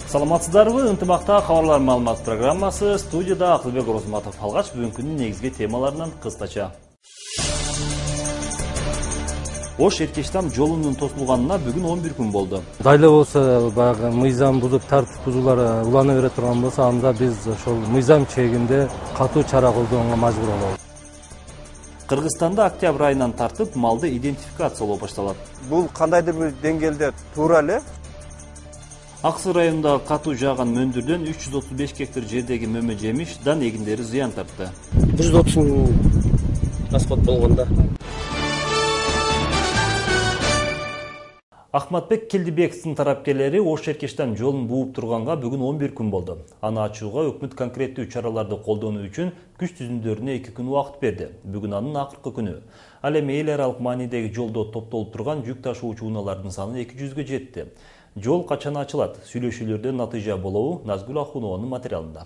Саламатсыздарбы? Ынтымакта кабарлар маалымат программасы, студияда Акылбек Орозматов. Алгач бүгүнкүнүн негизги темаларынан кыскача. Ош Эркештам жолунун тосулганына бүгүн 11 күн болду. Дайла болсо баягы мыйзам бузуп, тартип бузуулар улана бере турган болсо, анда биз ошол мыйзам чегинде катуу чара колдонууга мажбур болобуз. Кыргызстанда октябрь айынан тартып малды идентификациялоо башталат. Бул кандайдыр бир деңгээлде туура эле. Ак Суу районундагы катуу жааган мөндүрдөн 335 гектар жердеги мөмө жемиш дан эгиндери зыян тартты. 130 миң расход болгондо. Ахматбек Келдибековдун тарапкерлери Ош Эркештам жолун бууп турганга бүгүн 11 күн болду. Аны ачууга өкмөт конкреттүү чараларды колдонуу үчүн күч түзүмдөрүнө 2 күн убакыт берди. Бүгүн анын акыркы күнү. Ал эми эл аралык маанидеги жолдо топтолуп турган жүк ташуучу унаалардын саны 200гө жетти. Жол качан ачылат? Сүйлөшүүлөрдөн натыйжа болобу? Назгүл Ахунованын материалында.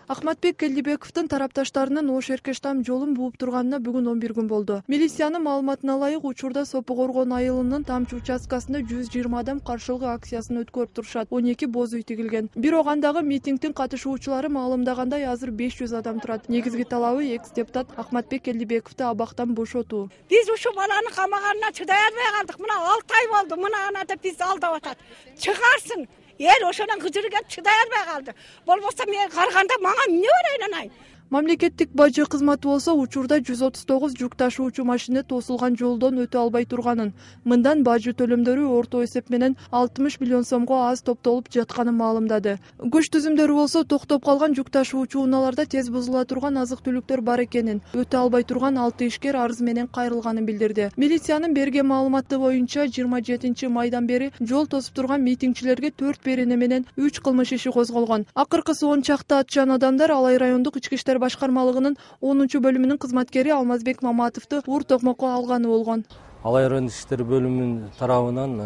Ахматбек Келдибековдун тарапташтарынын Ош Эркештам жолун бууп турганына бүгүн 11 күн болду. Милициянын маалыматына ылайык, учурда Сопу Коргон айылынын Тамчы участкасында 120 адам каршылык акциясын өткөрүп турушат. 12 боз үй тигилген. Бирок андагы митингдин катышуучулары маалымдагандай азыр 500 адам турат. Негизги талабы экс-депутат Ахматбек Келдибековду абактан бошотуу. Биз ушул баланы камаганына чыдай албай калдык. Мына 6 ай болду. Мына ана деп бизди алдап атат. Чыгарсын. Эл ошондон кыжырып чыдай албай калды. Болбосо мен карганда мага эмне берейин анай? Мамлекеттик бажы кызматы болсо учурда 139 жүк ташуучу машина тосулган жолдон өтө албай турганын, мындан бажы төлөмдөрү орто эсеп менен 60 миллион сомго аз топтолуп жатканын маалымдады. Күч түзүмдөрү болсо токтоп калган жүк ташуучу унааларда тез бузула турган азык-түлүктөр бар экенин, өтө албай турган 6 ишкер арыз менен кайрылганын билдирди. Милициянын берген маалыматы боюнча 27 майдан бери жол тосуп турган митингчилерге 4 берене менен 3 кылмыш иши козголгон. Акыркысы 10 чакты атчан адамдар Алай райондук ички иштер башкармалыгынын 10 бөлүмүнүн кызматкери Алмазбек Маматовду ур токмокко алганы болгон. Алай райондук иштер бөлүмүнүн тарабынан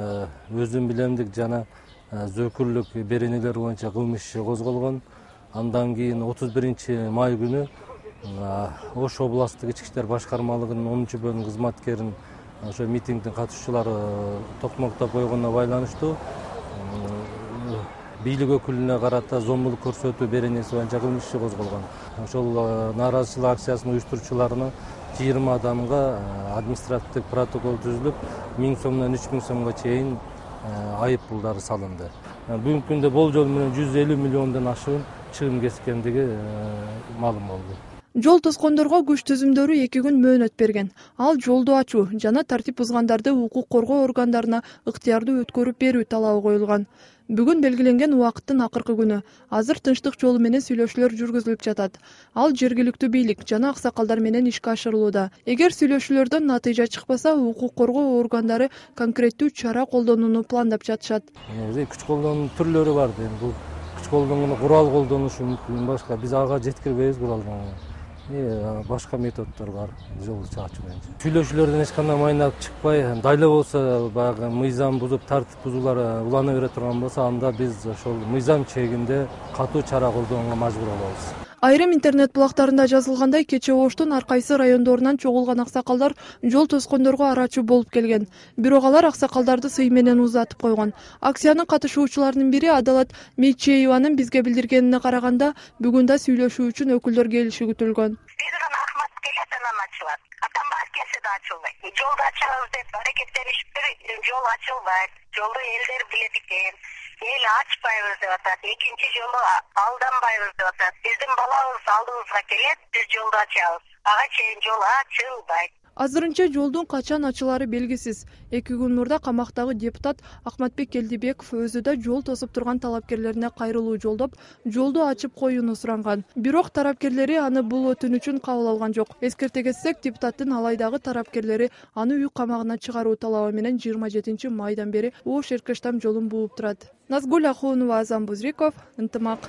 өзүм билемдик жана зөкүрлүк беренелер боюнча кылмыш иши козголгон. Андан кийин 31 май күнү Ош областтык ички иштер башкармалыгынын 10 бөлүм кызматкерин ошо митингдин катышуучулары токмоктоп койгонуна байланыштуу бийлик өкүлүнө карата зомбулук көрсөтүү беренеси боюнча кылмыш иши козголгон. Ошол нааразычылык акциясынын уюштуруучуларына 20 адамга административдик протокол түзүлүп, 1000 сомдон 3000 сомго чейин айып пулдары салынды. Бүгүнкү күндө болжол менен 150 миллиондон ашуун чыгым кескендиги маалым болду. Жол тоскондорго күч түзүмдөрү 2 күн мөөнөт берген. Ал жолду ачуу жана тартип бузгандарды укук коргоо органдарына ыктыярдуу өткөрүп берүү талабы коюлган. Бүгүн белгиленген убакыттын акыркы күнү. Азыр тынчтык жолу менен сүйлөшүүлөр жүргүзүлүп жатат. Ал жергиликтүү бийлик жана аксакалдар менен ишке ашырылууда. Эгер сүйлөшүүлөрдөн натыйжа чыкпаса, укук коргоо органдары конкреттүү чара колдонууну пландап жатышат. Күч колдонуунун түрлөрү бар. Бул күч колдонгондо курал колдонушу мүмкүн, башка биз ага жеткирбейбиз куралды. Башка методдор бар жолду чачуу боюнча. Сүйлөшүүлөрдөн эч кандай майнап чыкпай, дайла болсо баягы мыйзам бузуп, тартип бузуулар улана бере турган болсо, анда биз ошол мыйзам чегинде катуу чара колдонууга мажбур болобуз. Айрым интернет булактарында жазылгандай, кечээ Оштун ар кайсы райондорунан чогулган аксакалдар жол тоскондорго арачуу болуп келген. Бирок алар аксакалдарды сый менен узатып койгон. Акциянын катышуучуларынын бири Адалат Мейчееванын бизге билдиргенине караганда, бүгүн да сүйлөшүү үчүн өкүлдөр келиши күтүлгөн. Акциясы да ачылбайт. Жолду ачабыз деп аракеттенишиптир, жол ачылбайт. Жолду элдер билет экен. Эл ачпайбыз деп атат. Экинчи жолу алданбайбыз деп атат. Биздин балабыз алдыбызга келет, биз жолду ачабыз. Ага чейин жол ачылбайт. Азырынча жолдун качан ачылары белгисиз. 2 күн мурда камактагы депутат Ахматбек Келдибеков өзү да жол тосуп турган талапкерлерине кайрылуу жолдоп, жолду ачып коюуну суранган. Бирок тарапкерлери аны бул өтүнүчүн кабыл алган жок. Эскерте кетсек, депутаттын Алайдагы тарапкерлери аны үй камагына чыгаруу талабы менен 27 майдан бери Ош Эркештам жолун бууп турат. Назгүл Ахунова, Азам Бузриков, Ынтымак.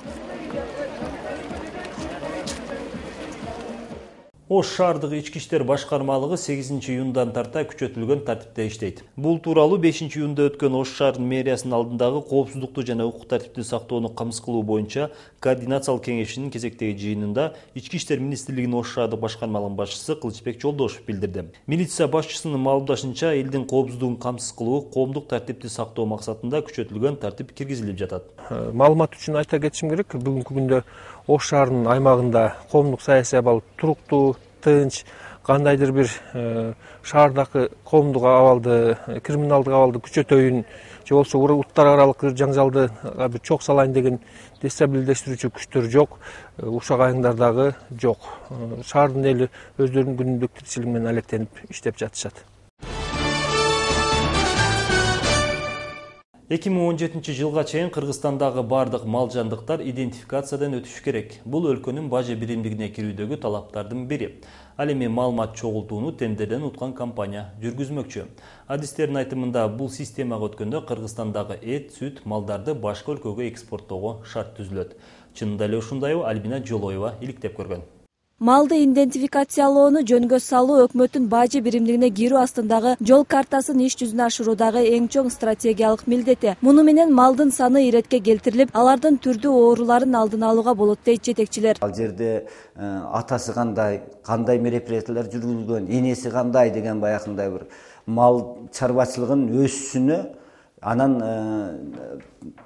Ош шаардык ички иштер башкармалыгы 8-июндан тарта күчөтүлгөн тартипте иштейт. Бул тууралуу 5-июнда өткөн Ош шаарынын мэриясынын алдындагы коопсуздукту жана укук тартипти сактоону камсыз кылуу боюнча координациялык кеңешинин кезектеги жыйынында Ички иштер министрлигинин Ош шаардык башкармалыгынын башчысы Кылычбек Жолдошев билдирди. Милиция башчысынын маалымдашынча, элдин коопсуздугун камсыз кылуу, коомдук тартипти сактоо максатында күчөтүлгөн тартип киргизилип жатат. Маалымат үчүн айта кетишим керек, бүгүнкү күндө Ош шаарынын аймагында коомдук саясий абал туруктуу, тынч, кандайдыр бир шаардагы коомдук абалды, криминалдык абалды күчөтөйүн же болбосо уруттар аралык жаңжалды бир чок салайын деген дестабилдештирүүчү күчтөр жок, ушак айыңдардагы жок. Шаардын эли өздөрүнүн күнүмдүк тиричилиги менен алектенип иштеп жатышат. 2017 жылга чейин Кыргызстандагы бардык мал жандыктар идентификациядан өтүшү керек. Бул өлкөнүн бажы биримдигине кирүүдөгү талаптардын бири. Ал эми маалымат чогултууну тендерден уткан компания жүргүзмөкчү. Адистердин айтымында бул системага өткөндө Кыргызстандагы эт, сүт малдарды башка өлкөгө экспорттоого шарт түзүлөт. Чынында эле ушундайбы? Альбина Жолоева иликтеп көргөн. Малды идентификациялоону жөнгө салуу өкмөттүн бажы биримдигине кирүү астындагы жол картасын иш жүзүнө ашыруудагы эң чоң стратегиялык милдети. Муну менен малдын саны иретке келтирилип, алардын түрдүү ооруларын алдын алууга болот дейт жетекчилер. Ал жерде атасы кандай мероприятиялар жүргүзүлгөн, энеси кандай деген баягындай бир мал чарбачылыгын өсүшүнө, анан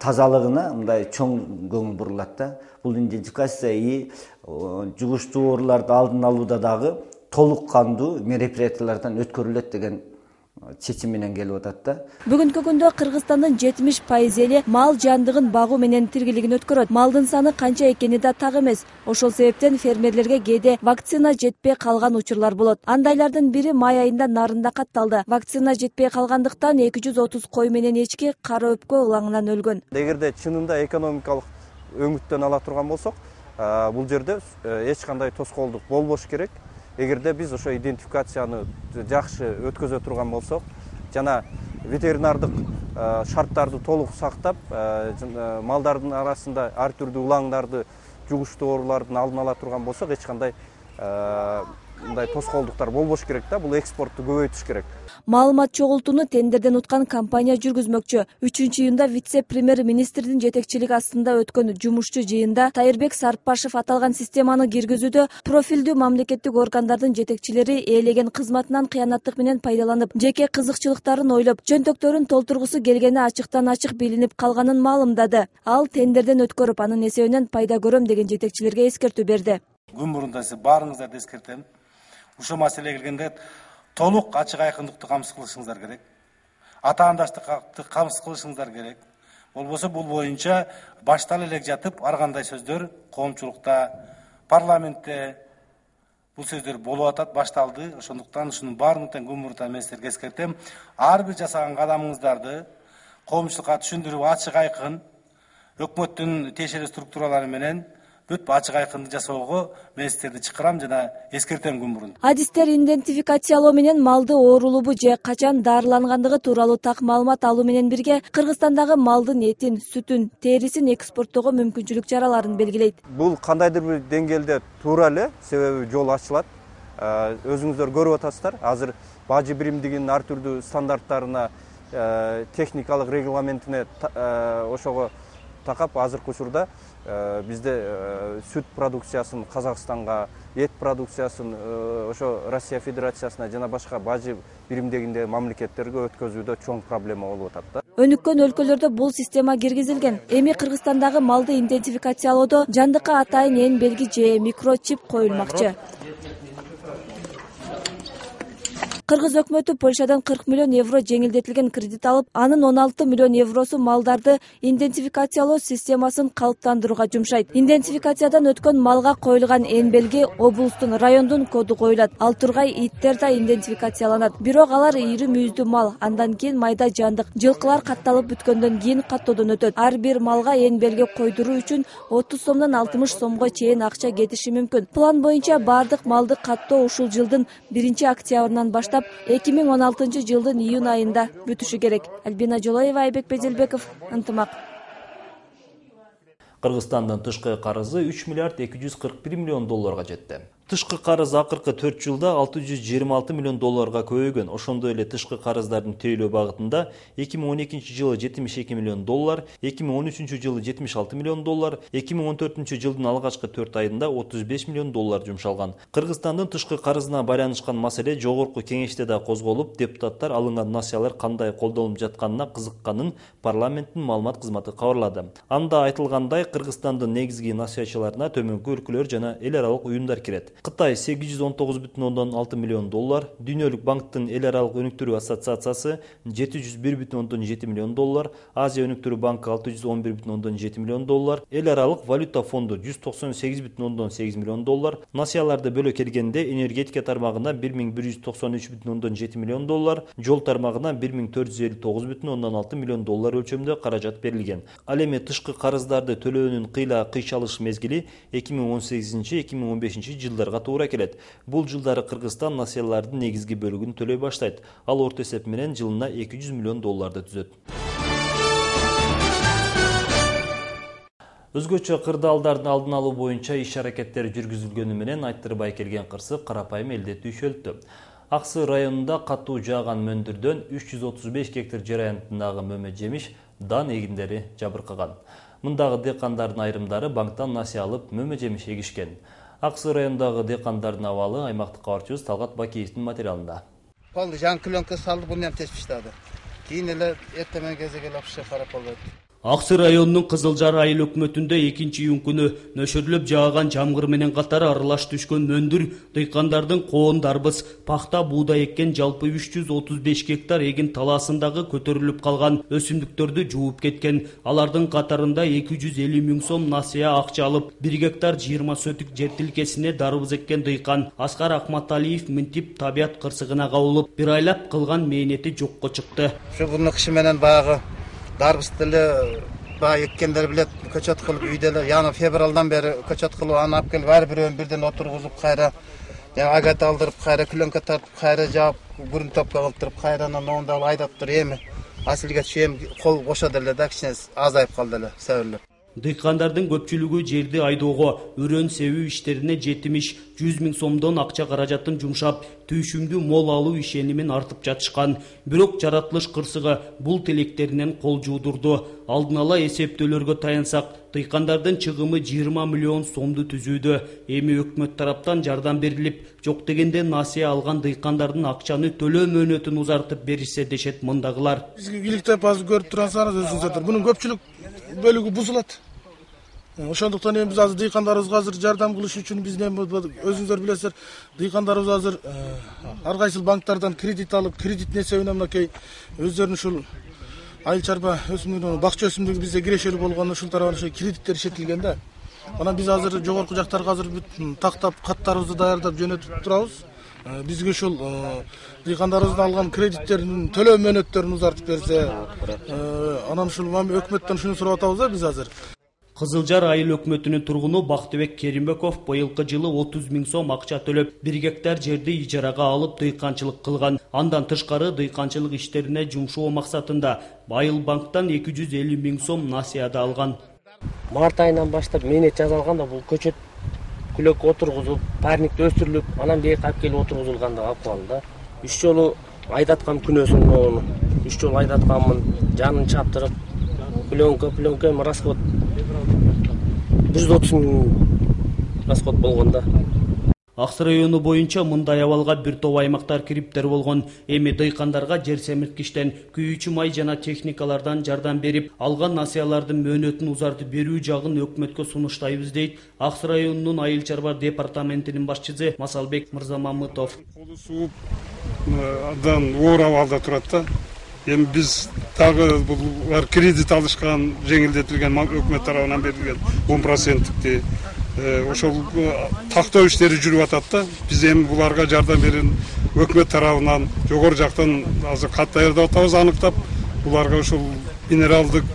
тазалыгына мындай чоң көңүл бурулат да. Бул идентификация жугуштуу ооруларды алдын алууда дагы толук кандуу мероприятиялардан өткөрүлөт деген чечим менен келип атат да. Бүгүнкү күндө Кыргызстандын 70% эли мал жандыгын багуу менен тиргелигин өткөрөт. Малдын саны канча экени да так эмес. Ошол себептен фермерлерге кээде вакцина жетпей калган учурлар болот. Андайлардын бири май айында Нарында катталды. Вакцина жетпей калгандыктан 230 кой менен эчки кара өпкө ылаңынан өлгөн. Эгерде чынында экономикалык өңүттөн ала турган болсок, бул жерде эч кандай тоскоолдук болбош керек. Эгерде биз ошо идентификацияны жакшы өткөзө турган болсок, жана ветеринардык шарттарды толук сактап, малдардын арасында ар түрдүү улаңдарды, жугуштуу оорулардын алдын ала турган болсок, эч кандай мындай тоскоолдуктар болбош керек да, бул экспортту көбөйтүш керек. Маалымат чогултууну тендерден уткан компания жүргүзмөкчү. 3-июнда вице-премьер министрдин жетекчилиги астында өткөн жумушчу жыйында Тайырбек Сарпашев аталган системаны киргизүүдө профилдүү мамлекеттик органдардын жетекчилери ээлеген кызматынан кыянаттык менен пайдаланып, жеке кызыкчылыктарын ойлоп, чөнтөктөрүн толтургусу келгени ачыктан ачык билинип калганын маалымдады. Ал тендерден өткөрүп, анын эсебинен пайда көрөм деген жетекчилерге эскертүү берди. Күн мурунда сиз баарыңыздарды эскертем. Ушул маселеге келгенде толук ачык айкындыкты камсыз кылышыңыздар керек. Атаандаштыкты камсыз кылышыңыздар керек. Болбосо бул боюнча башталып элек жатып ар кандай сөздөр коомчулукта, парламентте бул сөздөр болуп атат, башталды. Ошондуктан ушунун баардыгын күн мурунта мен силерге эскертем. Ар бир жасаган кадамыңыздарды коомчулукка түшүндүрүп ачык айкын өкмөттүн тиешелүү структуралары менен бүт ачык айкынды жасоого мен силерди чакырам жана эскертем күн мурун. Адистер идентификациялоо менен малды оорулуубу же качан дарылангандыгы тууралуу так маалымат алуу менен бирге Кыргызстандагы малдын этин, сүтүн, терисин экспорттоого мүмкүнчүлүк чараларын белгилейт. Бул кандайдыр бир деңгээлде туура эле, себеби жол ачылат. Өзүңүздөр көрүп атасыздар, азыр бажы биримдигинин ар түрдүү стандарттарына, техникалык регламентине ошого такап азыркы учурда бизде сүт продукциясын Казакстанга, эт продукциясын ошо Россия Федерациясына жана башка бажы биримдигинде мамлекеттерге өткөзүүдө чоң проблема болуп атат да. Өнүккөн өлкөлөрдө бул система киргизилген. Эми Кыргызстандагы малды идентификациялоодо жандыкка атайын эн белги же микрочип коюлмакчы. Кыргыз өкмөтү Польшадан 40 миллион евро жеңилдетилген кредит алып, анын 16 миллион евросу малдарды идентификациялоо системасын калыптандырууга жумшайт. Идентификациядан өткөн малга коюлган эн белги облустун, райондун коду коюлат. Ал тургай иттер да идентификацияланат. Бирок алар ири мүйүздүү мал, андан кийин майда жандык, жылкылар катталып бүткөндөн кийин каттоодон өтөт. Ар бир малга эн белги койдуруу үчүн 30 сомдон 60 сомго чейин акча кетиши мүмкүн. План боюнча бардык малды каттоо ушул жылдын 1-октябрынан баштап 2016 жылдын июнь айында бүтүшү керек. Альбина Жолоева, Айбек Безелбеков, Ынтымак. Кыргызстандын тышкы карызы 3 миллиард 241 миллион долларга жетти. Тышкы карыз акыркы 4 жылда 626 миллион долларга көбөйгөн. Ошондой эле тышкы карыздардын тейлөө багытында 2012 жылы 72 миллион доллар, 2013 жылы 76 миллион доллар, 2014 жылдын алгачкы 4 айында 35 миллион доллар жумшалган. Кыргызстандын тышкы карызына байланышкан маселе жогорку кеңеште да козголуп, депутаттар алынган насыялар кандай колдонулуп жатканына кызыкканын парламенттин маалымат кызматы кабарлады. Анда айтылгандай, Кыргызстандын негизги насыячыларына төмөнкү өлкөлөр жана эл аралык уюмдар кирет. Кытай 819,6 миллион доллар, Дүйнөлүк банктын эл аралык өнүктүрүү ассоциациясы 701,7 миллион доллар, Азия өнүктүрүү банкы 611,7 миллион доллар, эл аралык валюта фонду 198,8 миллион доллар, насыяларды бөлө келгенде энергетика тармагына 1193,7 миллион доллар, жол тармагына 1459,6 миллион доллар өлчөмдө каражат берилген. Ал эми тышкы карыздарды төлөөнүн кыйчалыш мезгили 2018-2015 жылдарга туура келет. Бул жылдары Кыргызстан насыялардын негизги бөлүгүн төлөй баштайт. Ал орто эсеп менен жылына 200 миллион долларды түзөт. Өзгөчө кырдаалдардын алдын алуу боюнча иш-аракеттер жүргүзүлгөнү менен айттырбай келген кырсык карапайым элде түйшөлтү. Аксы районунда катуу жааган мөндүрдөн 335 гектар жер аянтындагы мөмө жемиш дан эгиндери жабыркаган. Мындагы дыйкандардын айрымдары банктан насыя алып мөмө жемиш эгишкен. Аксы районундагы дыйкандардын абалы аймактык кабарчыбыз Талгат Бакиевдин материалында. Болду, жаңы клёнка салды, буну ham тесип таштады. Кийин эле эртемен кезге келип карап болду. Аксы районунун Кызылжар айыл өкмөтүндө 2-июнь күнү нөшөрлөп жааган жамгыр менен катары аралаш түшкөн мөндүр дыйкандардын коон дарбыз, пахта, буудай эккен жалпы 335 гектар эгин талаасындагы көтөрүлүп калган өсүмдүктөрдү жууп кеткен. Алардын катарында 250 миң сом насыя акча алып, 1 гектар 20 сөтүк жер тилкесине дарбыз эккен дыйкан Аскар Акматалиев мынтип табият кырсыгына кабылып, бир айлап кылган мээнети жокко чыкты. Ушу буну кышы менен баягы дарбызды эле баягы эккендер билет, көчөт кылып үйдө эле, яны февралдан бери көчөт кылып аны алып келип ар бирөөнү бирден отургузуп, кайра агат алдырып, кайра клёнка тартып, кайра жаап, бурун топко кылтырып, кайрадан оңдо алып айдап туруп, эми асилге чейин кол бошоду эле да, кичине азайып калды эле себерлеп. Дыйкандардын көпчүлүгү жерди айдоого, өрөөн себүү иштерине 70-100 миң сомдон акча каражатын жумшап, түйшүмдүү мол алуу ишенимин артып жатышкан. Бирок жаратылыш кырсыгы бул тилектеринен кол жуудурду. Алдын ала эсептөөлөргө таянсак, дыйкандардын чыгымы 20 миллион сомду түзүүдө. Эми өкмөт тараптан жардам берилип, жок дегенде насыя алган дыйкандардын акчаны төлөө мөөнөтүн узартып беришсе дешет мындагылар. Бизге иликтеп азыр көрүп турсаңыз өзүңүздөр, бунун көпчүлүк бөлүгү бузулат. Ошондуктан эми биз азыр дыйкандарыбызга азыр жардам кылыш үчүн биз өзүңүздөр билесиздер, дыйкандарыбыз азыр ар кайсыл банктардан кредит алып, кредиттин эсебинен мынакей өздөрүнүн ушул айыл чарба өсүмдүгү, бакча өсүмдүгү бизде кирешелүү болгондо ушул тарабынан ошо кредиттер ишетилген да. Анан биз азыр жогорку жактарга азыр тактап, каттарыбызды даярдап жөнөтүп турабыз. Бизге ушул дыйкандарыбыздын алган кредиттердин төлөө мөөнөттөрүн узартып берсе, анан ушул өкмөттөн шуну сурап атабыз да биз азыр. Кызылжар айыл өкмөтүнүн тургуну Бактыбек Керимбеков быйылкы жылы 30 миң сом акча төлөп, 1 гектар жерди ижарага алып дыйканчылык кылган. Андан тышкары дыйканчылык иштерине жумшоо максатында Айыл банктан 250 миң сом насыяда алган. Март айынан баштап мээнет жасалганда бул көчөт күлөк отургузуп, парникти өстүрүлүп, анан бияка алып келип отургузулганда акыбалы да. 3 жолу айдаткам күнөөсүн моуну. 3 жолу айдатканмын, жанын чаптырып, пленка расход 130 миң расход болгон да. Аксы району боюнча мындай абалга бир топ аймактар кириптер болгон. Эми дыйкандарга жер семирткичтен, күйүүчү май жана техникалардан жардам берип, алган насыялардын мөөнөтүн узартып берүү жагын өкмөткө сунуштайбыз дейт Аксы районунун айыл чарба департаментинин башчысы Масалбек Мырзамамытов. Колу сууп андан оор абалда турат да. Эми биз дагы булар кредит алышкан, жеңилдетилген өкмөт тарабынан берилген 10%-ти ошол тактоо иштери жүрүп атат да. Биз эми буларга жардам берин өкмөт тарабынан жогору жактан азыр кат даярдап атабыз, аныктап буларга ушул минералдык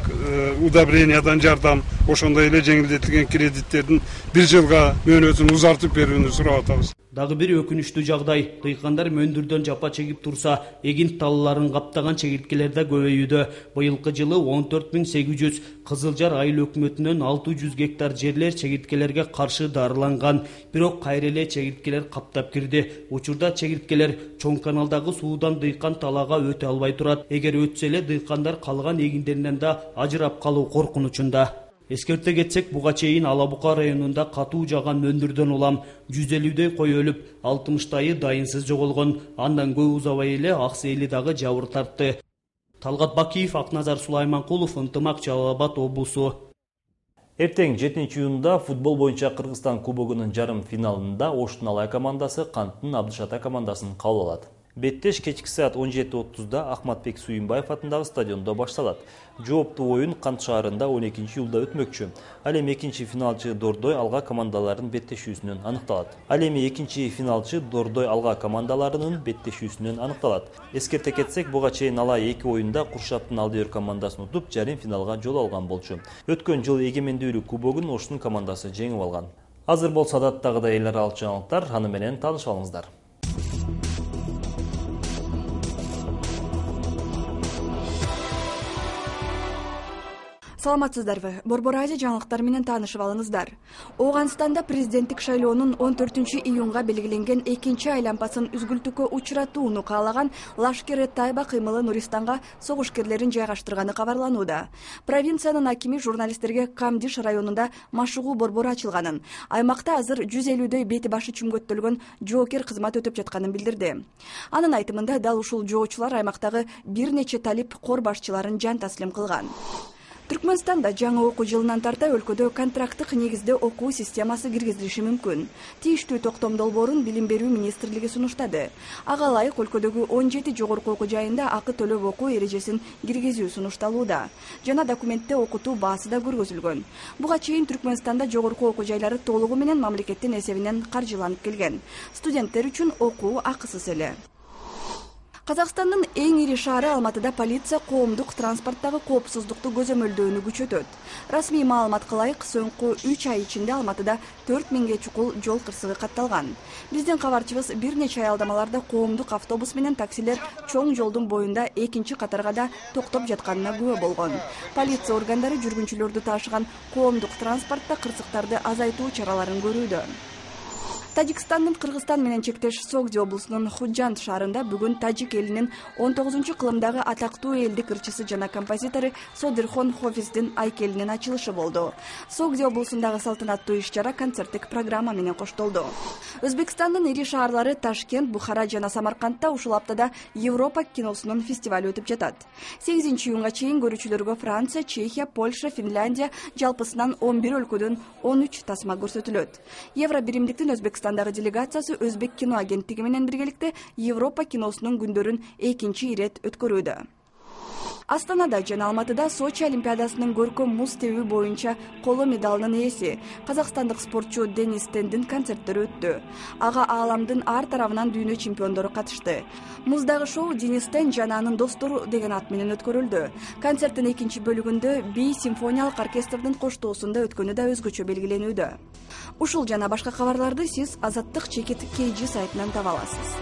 удобрениядан жардам, ошондой эле жеңилдетилген кредиттердин 1 жылга мөөнөтүн узартып берүүнү сурап атабыз. Дагы бир өкүнүчтүү жагдай, дыйкандар мөндүрдөн жапа чегип турса, эгинт талларын каптаган чегирткелер да көбөйүүдө. Быйылкы жылы 14.800, Кызылжар айыл өкмөтүнөн 600 гектар жерлер чегирткелерге каршы дарыланган. Бирок кайра эле чегирткелер каптап кирди. Учурда чегирткелер чоң каналдагы суудан дыйкан талаага өтө албай турат. Эгер өтсө эле дыйкандар калган эгиндеринен да ажырап калуу коркунучунда. Эскерте кетсек, буга чейин Ала Бука районунда катуу жаган мөндүрдөн улам 150дөй кой өлүп, 60тайы дайынсыз жоголгон. Андан көп узабай эле Аксейли дагы жабыр тартты. Талгат Бакиев, Акназар Сулайманкулов, Ынтымак, Жалал Абад облусу. Эртең 7-июнда футбол боюнча Кыргызстан кубогунун жарым финалында Оштун Алай командасы Канттын Абдышата командасын кабыл алат. Беттеш кечки саат 17:30-да Ахматбек Суйунбаев атындагы стадиондо башталат. Жооптуу оюн Кант шаарында 12-июлда өтмөкчү. Ал эми экинчи финалчы Дордой Алга командаларынын беттешүүсүнөн аныкталат. Эскерте кетсек, буга чейин Алай 2 оюнда Куршаптын Алдыер командасын утуп, жарым финалга жол алган болчу. Өткөн жылы эгемендүүлүк кубогун Оштун командасы жеңип алган. Азыр болсо адаттагыдай эл аралык жаңылыктар, аны менен таанышып алыңыздар. Саламатсыздарбы? Борбор Азия жаңылыктары менен таанышып алыңыздар. Ооганстанда президенттик шайлоонун 14-июнга белгиленген экинчи айлампасын үзгүлтүккө учуратууну каалаган Лашкер-э-Тайба кыймылы Нуристанга согушкерлерин жайгаштырганы кабарланууда. Провинциянын акими журналисттерге Камдиш районунда машыгуу борбору ачылганын, аймакта азыр 150дөй бети башы чүмгөттөлгөн жоокер кызмат өтөп жатканын билдирди. Анын айтымында дал ушул жоочулар аймактагы бир нече талип кор башчыларын жан таслим кылган. Түркмөнстанда жаңы окуу жылынан тарта өлкөдө контракттык негизде окуу системасы киргизилиши мүмкүн. Тийиштүү токтом долбоорун Билим берүү министрлиги сунуштады. Ага ылайык өлкөдөгү 17 жогорку окуу жайында акы төлөп окуу эрежесин киргизүү сунушталууда. Жана документте окутуу баасы да көргөзүлгөн. Буга чейин Түркмөнстанда жогорку окуу жайлары толугу менен мамлекеттин эсебинен каржыланып келген. Студенттер үчүн окуу акысыз эле. Казакстандын эң ири шаары Алматыда полиция коомдук транспорттагы коопсуздукту көзөмөлдөөнү күчөтөт. Расмий маалыматка ылайык, соңку 3 ай ичинде Алматыда 4000ге чукул жол кырсыгы катталган. Биздин кабарчыбыз бир нече аялдамаларда коомдук автобус менен таксилер чоң жолдун боюнда экинчи катарга да токтоп жатканына күбө болгон. Полиция органдары жүргүнчүлөрдү таашыган коомдук транспортто кырсыктарды азайтуу чараларын көрүүдө. Тажикстандын Кыргызстан менен чектеш Согди облусунун Худжанд шаарында бүгүн тажик элинин 19-кылымдагы атактуу элдик ырчысы жана композитору Содирхон Хофиздин айкелинин ачылышы болду. Согди облусундагы салтанаттуу иш-чара концерттик программа менен коштолду. Өзбекстандын ири шаарлары Ташкент, Бухара жана Самаркандта ушул аптада Европа киносунун фестивалю өтүп жатат. 8-июнга чейин көрүүчүлөргө Франция, Чехия, Польша, Финляндия жалпысынан 11 өлкөдөн 13 тасма көрсөтүлөт. Евро биримдиктин Өзбекстандагы делегациясы Өзбек кино агенттиги менен биргеликте Европа киносунун күндөрүн экинчи ирет өткөрүүдө. Астанада жана Алматыда Сочи олимпиадасынын көркөм муз тебүү боюнча коло медалынын ээси казакстандык спортчу Денис Тендин концерттери өттү. Ага ааламдын ар тарабынан дүйнө чемпиондору катышты. Муздагы шоу Денис Тен жана анын достору деген ат менен өткөрүлдү. Концерттин экинчи бөлүгүндө би симфониялык оркестрдин коштоосунда өткөнү да өзгөчө белгиленүүдө. Ушул жана башка кабарларды сиз Азаттык чекит KG сайтынан таба аласыз.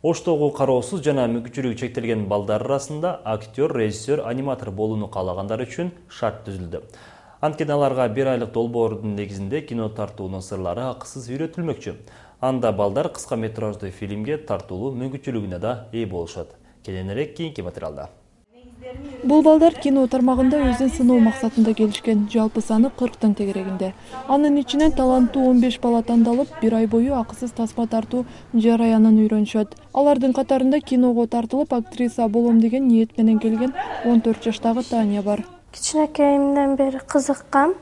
Оштогу кароосуз жана мүмкүнчүлүгү чектелген балдар арасында актер, режиссер, аниматор болууну каалагандар үчүн шарт түзүлдү. Анткени аларга 1 айлык долбоордун негизинде кино тартуунун сырлары акысыз үйрөтүлмөкчү. Анда балдар кыска метраждуу фильмге тартуулуу мүмкүнчүлүгүнө да ээ болушат. Кененирээк кийинки материалда. Бул балдар кино тармагында өзүн сыноо максатында келишкен. Жалпы саны 40тын тегерегинде. Анын ичинен таланттуу 15 бала тандалып, 1 ай бою акысыз тасма тартуу жараянын үйрөнүшөт. Алардын катарында киного тартылып, актриса болом деген ниет менен келген 14 жаштагы Таня бар. Кичинекейимден бери кызыккам.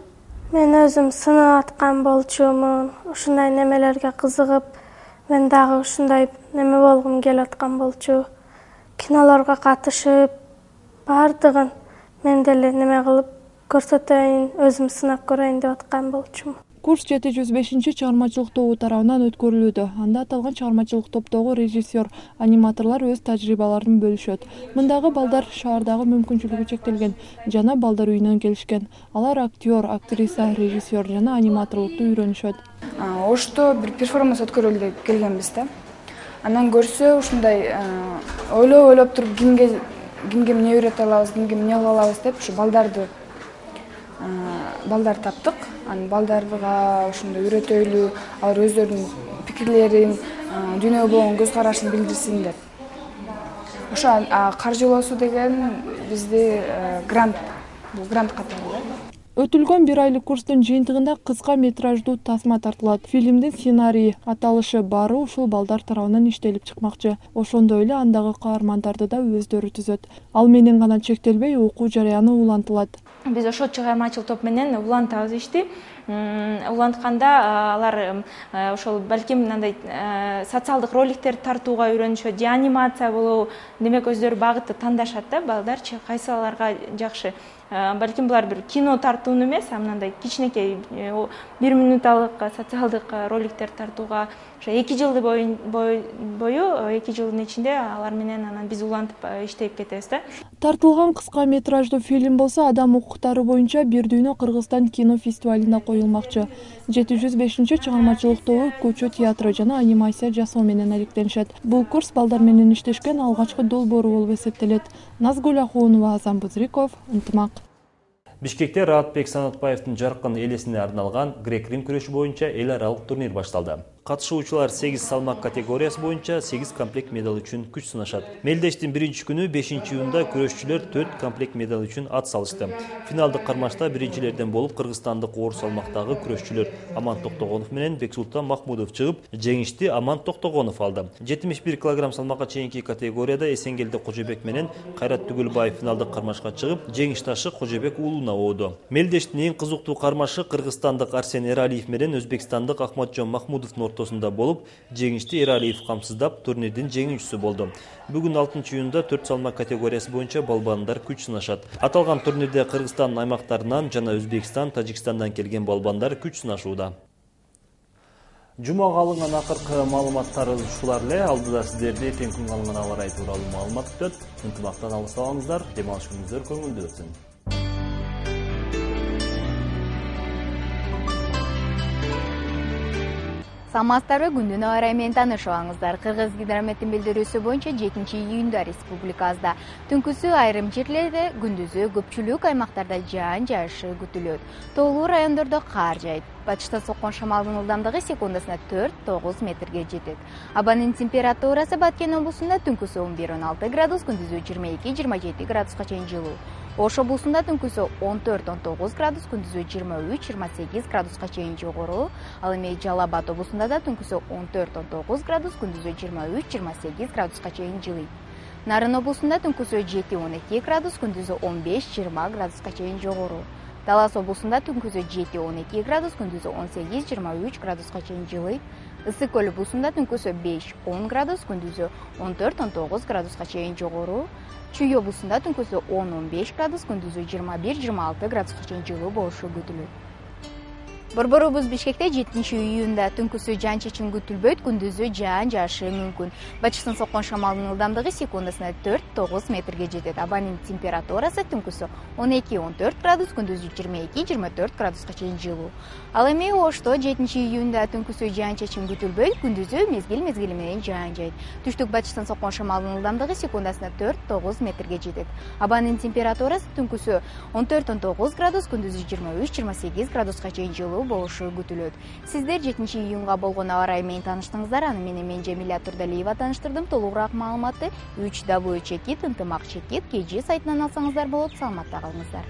Мен өзүм сынап аткан болчумун. Ушундай немелерге кызыгып, мен дагы ушундай неме болгум келип аткан болчу. Кинолорго катышып, бардыгын мен деле неме кылып көрсөтөйүн, өзүм сынап көрөйүн деп аткан болчумун. Курс 705 чыгармачылык тобу тарабынан өткөрүлүүдө. Анда аталган чыгармачылык топтогу режиссер, аниматорлор өз тажрыйбаларын бөлүшөт. Мындагы балдар шаардагы мүмкүнчүлүгү чектелген жана балдар үйүнөн келишкен. Алар актер, актриса, режиссер жана аниматорлукту үйрөнүшөт. Ошто бир перформанс өткөрөлү деп келгенбиз да. Анан көрсө ушундай ойлоп туруп кимге эмне үйрөтө алабыз, кимге эмне кыла алабыз деп ушу балдар таптык. Анан балдарга ошондой үйрөтөлү, алар өздөрүнүн пикирлерин, дүйнөгө болгон көз карашын билдирсин деп. Ошо каржылоосу деген бизде грант, бул грант катары. Өтүлгөн 1 айлык курстун жыйынтыгында кыска метраждуу тасма тартылат. Фильмдин сценарийи, аталышы баары ушул балдар тарабынан иштелип чыкмакчы. Ошондой эле андагы каармандарды да өздөрү түзөт. Ал менен гана чектелбей, окуу жарыяны улантылат. Биз ошол чыгармачылык топ менен улантабыз ишти. Улантканда алар ошол балким мындай социалдык роликтерди тартууга үйрөнүшөт, же анимация болобу, демек өздөрү багытты тандашат да, балдарчы кайсыларга жакшы. Балким булар бир кино тартууну эмес, мындай кичинекей 1 минуталык социалдык роликтер тартууга ошо 2 жылды бою 2 жылдын ичинде алар менен анан биз улантып иштеп кетебиз да. Тартылган кыска метраждуу фильм болсо адам укуктары боюнча Бир дүйнө Кыргызстан кино фестивалында коюлмакчы. 705 чыгармачылык тобу көчө театры жана анимация жасоо менен алектенишет. Бул курс балдар менен иштешкен алгачкы долбоору болуп эсептелет. Назгүл Ахунова, Азам Бузриков, Ынтымак. Бишкекте Раатбек Санатбаевдин жаркын элесине арналган грек-рим күрөшү боюнча эл аралык турнир башталды. Катышуучулар 8 салмак категориясы боюнча 8 комплект медаль үчүн күч сынашат. Мелдештин 1-күнү 5-июнда күрөшчүлөр 4 комплект медаль үчүн ат салышты. Финалдык кармашта биринчилерден болуп кыргызстандык оор салмактагы күрөшчүлөр Аман Токтогонов менен Бексултан Махмудов чыгып, жеңишти Аман Токтогонов алды. 71 кг салмакка чейинки категорияда Эсенгелди Кожобек менен Кайрат Түгүлбаев финалдык кармашка чыгып, жеңиш ташы Кожобек уулуна ооду. Мелдештин эң кызыктуу кармашы кыргызстандык Арсен Эралиев менен өзбекстандык Ахматжон Махмудовдун ортосунда болуп, жеңишти Эралиев камсыздап турнирдин жеңүүчүсү болду. Бүгүн 6-июнда 4 салмак категориясы боюнча балбандар күч сынашат. Аталган турнирде Кыргызстан аймактарынан жана Өзбекстан, Тажикстандан келген балбандар күч сынашууда. Жумага алынган акыркы маалыматтар ушулар эле. Алдыда сиздерди эртең күнгө алынган аба ырайы тууралуу маалымат күтөт. Ынтымактан алыс алыңыздар, дем алыш күнүңүздөр көңүлдүү өтсүн. Саламатсыздарбы, күндүн аба ырайы менен таанышып алыңыздар. Кыргыз гидрометтин билдирүүсү боюнча 7-июнда республикабызда түнкүсү айрым жерлерде, күндүзү көпчүлүк аймактарда жаан жаашы күтүлөт. Тоолуу райондордо кар жаайт. Батыштан соккон шамалдын ылдамдыгы секундасына 4-9 метрге жетет. Абанын температурасы Баткен облусунда түнкүсү 11-16 градус, күндүзү 22-27 градуска чейин жылуу. Ош облусунда түнкүсү 14-19 градус, күндүзү 23-28 градуска чейин жогору. Ал эми Жалал Абад облусунда да түнкүсү 14-19 градус, күндүзү 23-28 градуска чейин жылыйт. Нарын облусунда түнкүсү 7-12 градус, күндүзү 15-20 градуска чейин жогору. Талас облусунда түнкүсү 7-12 градус, күндүзү 18-23 градуска чейин жылыйт. Ысык көл облусунда түнкүсү 5-10 градус, күндүзү 14-19 градуска чейин жогору. Чүй облусунда түнкүсү 10-15 градус, күндүзү 21-26 градуска чейин жылуу болушу күтүлөт. Борборубуз Бишкекте 7-июнда түнкүсү жаан-чачын күтүлбөйт, күндүзү жаан жаашы мүмкүн. Батыштан соккон шамалдын ылдамдыгы секундасына 4-9 метрге жетет. Абанын температурасы түнкүсү 12-14 градус, күндүзү 22-24 градуска чейин жылуу. Ал эми Ошто 7-июнда түнкүсү жаан-чачын күтүлбөйт, күндүзү мезгил менен жаан жайт. Түштүк батыштан соккон шамалдын ылдамдыгы секундасына 4-9 метрге жетет. Абанын температурасы түнкүсү 14-19 градус, күндүзү 23-28 градуска чейин жылуу болушу күтүлөт. Сиздер 7-июнга болгон аба ырайы менен тааныштыңыздар. Аны менен мен Жамиля Турдалиева тааныштырдым. Толугураак маалыматты www.ынтымак.kz сайтынан алсаңыздар болот. Саламатта калыңыздар.